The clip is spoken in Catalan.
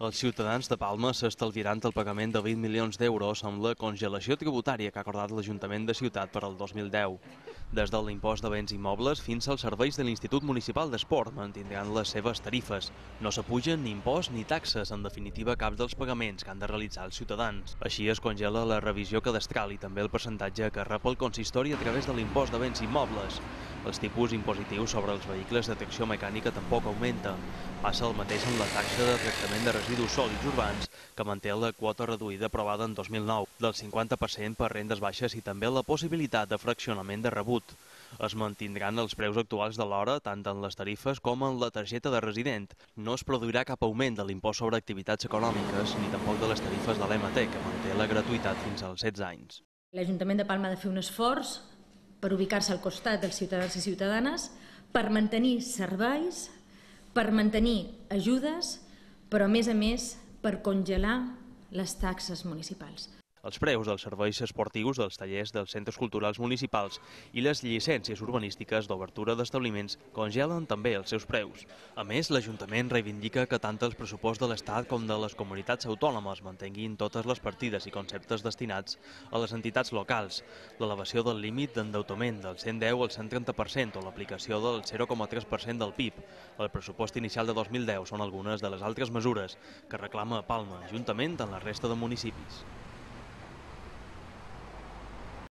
Els ciutadans de Palma s'estalviaran el pagament de 20 milions d'euros amb la congelació tributària que ha acordat l'Ajuntament de Ciutat per al 2010. Des de l'impost de béns immobles fins als serveis de l'Institut Municipal d'Esport mantindran les seves tarifes. No s'apugen ni imposts ni taxes, en definitiva cap dels pagaments que han de realitzar els ciutadans. Així es congela la revisió cadastral i també el percentatge que rep el consistori a través de l'impost de béns immobles. Els tipus impositius sobre els vehicles de tracció mecànica tampoc augmenta. Passa el mateix amb la taxa de tractament de residus sòlids urbans, que manté la quota reduïda aprovada en 2009, del 50% per rendes baixes i també la possibilitat de fraccionament de rebut. Es mantindran els preus actuals de l'hora, tant en les tarifes com en la targeta de resident. No es produirà cap augment de l'impost sobre activitats econòmiques, ni tampoc de les tarifes de l'EMT, que manté la gratuïtat fins als 16 anys. L'Ajuntament de Palma ha de fer un esforç per ubicar-se al costat dels ciutadans i ciutadanes, per mantenir serveis, per mantenir ajudes, però a més per congelar les taxes municipals. Els preus dels serveis esportius, dels tallers dels centres culturals municipals i les llicències urbanístiques d'obertura d'establiments congelen també els seus preus. A més, l'Ajuntament reivindica que tant el pressupost de l'Estat com de les comunitats autònomes mantinguin totes les partides i conceptes destinats a les entitats locals, l'elevació del límit d'endeutament del 110 al 130% o l'aplicació del 0,3% del PIB. El pressupost inicial de 2010 són algunes de les altres mesures que reclama Palma, juntament amb la resta de municipis.